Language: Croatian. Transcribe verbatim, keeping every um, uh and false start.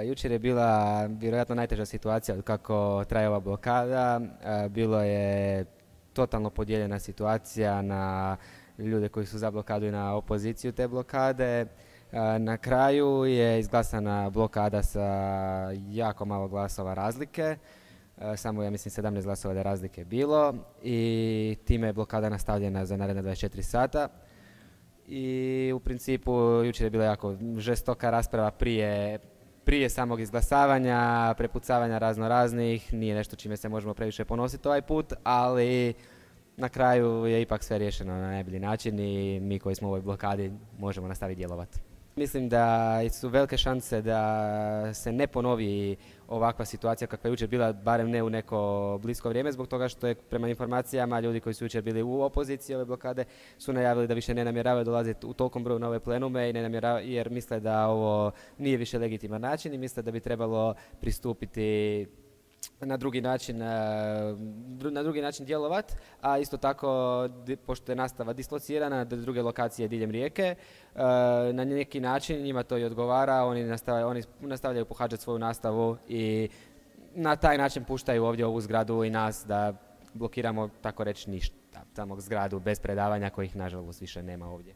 Jučer je bila vjerojatno najteža situacija od kako traje ova blokada. Bilo je totalno podijeljena situacija na ljude koji su za blokadu i na opoziciju te blokade. Na kraju je izglasana blokada sa jako malo glasova razlike. Samo, ja mislim, sedamnaest glasova da je razlike bilo i time je blokada nastavljena za naredna dvadeset četiri sata. I u principu jučer je bila jako žestoka rasprava prije, prije samog izglasavanja, prepucavanja razno raznih, nije nešto čime se možemo previše ponositi ovaj put, ali na kraju je ipak sve riješeno na najbolji način i mi koji smo u ovoj blokadi možemo nastaviti djelovati. Mislim da su velike šanse da se ne ponovi ovakva situacija kakva je jučer bila, barem ne u neko blisko vrijeme, zbog toga što je prema informacijama ljudi koji su jučer bili u opoziciji ove blokade su najavili da više ne namjeravaju dolaziti u tolikom broju na ove plenume i ne namjeravaju, jer misle da ovo nije više legitiman način i misle da bi trebalo pristupiti na drugi način, na drugi način djelovati, a isto tako, pošto je nastava dislocirana do druge lokacije diljem Rijeke, na neki način njima to i odgovara, oni nastavljaju, oni nastavljaju pohađati svoju nastavu i na taj način puštaju ovdje ovu zgradu i nas da blokiramo, tako reći, ništa, samog zgradu bez predavanja kojih nažalost više nema ovdje.